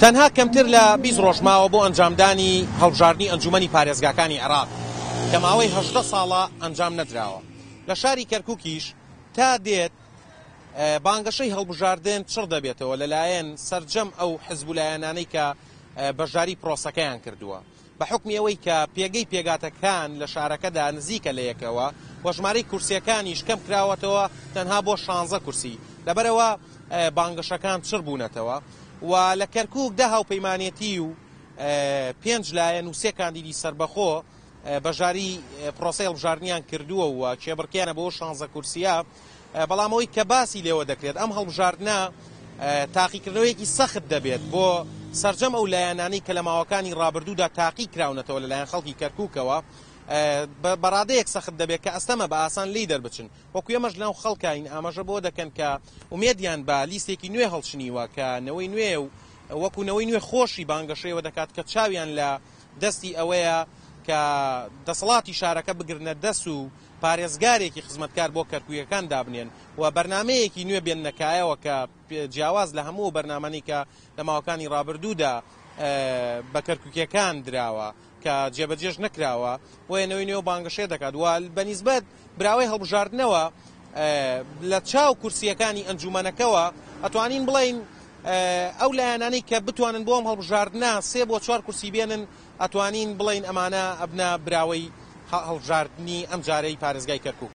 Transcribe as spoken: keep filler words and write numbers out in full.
تەنها کەمتر لە بیست ڕۆژ ماوە بۆ ئەنجامدانی هەڵبژاردنی ئەنجومەنی پارێزگاکانی عێراق کە ماوەی هەژدە ساڵە ئەنجام نەدراوە. لە شاری کەرکووکیش تا دێت بانگەشەی هەڵبژاردن چڕ دەبێتەوە لەلایەن سەرجەم ئەو حزب و لایەنانەی کە بەشداری پرۆسەکەیان کردووە، بە حوکمی ئەوەی کە پێگەی پێگاتەکان لە شارەکەدا نزیکە لە یەکەوە و ژمارەی کورسیەکانیش کەم کراوەتەوە تەنها بۆ شانزە کورسی، لەبەرەوە بانگەشەکان چڕ بوونەتەوە و لە کەرکووک دە هاوپەیمانێتی و پێنج لایەن و سێ کاندیدی سەربەخۆ بەشداری پرۆسەی هەڵبژاردنیان کردووە و کێبڕکێیانە بۆ شانزە کورسیە. بەڵام ئەوەی کە باسی لێوە دەکرێت ئەم هەڵبژاردنە تاقیکردنەوەیەکی سەخت دەبێت بۆ سەرجەم ئەو لایەنانەی کە لە ماوەکانی ڕابردوودا تاقی کراونەتەوە لەلایەن خەڵکی کەرکووکەوە، بەڕادەیەک سەخت دەبێت کە ئەستەمە بە ئاسان لی دەربچن. وەکو ئێمەش لەناو خەڵکین ئاماژە بۆ دەکەن کە ئومێدیان بە لیستێکی نوێ هەڵچنیوە کە نەوەی نوێ و وەکو نەوەی نوێ خۆشی بانگەشەیەوە دەکات کە چاویان لە دەستی ئەوەیە کە دەسەڵاتی شارەکە بگرنە دەست و پارێزگارێکی خزمەتکار بۆ کەرکوویەکان دابنێن و بەرنمەیەکی نوێ بێننەکایەوە کە جیاواز لە هەموو بەرنامەنی کە لە ماوەکانی ڕابردوودا بە کەرکووکیەکان دراوە کە جێبەجێش نەکراوە، بۆیە نەوەی نوێ بانگەشێ دەکات و بەنیسبەت براوەی هەڵبژاردنەوە لە چاو کورسیەکانی ئەنجومەنەکەوە ئەتوانین بڵین ئەو لایەنانەی کە بتوانن بۆ ئەم هەڵبژاردنە سێ بۆ چوار کورسی بێنن ئەتوانین بڵین ئەمانە ئەبنە براوەی هەڵبژاردنی ئەم جارەی پارێزگای کەرکووک.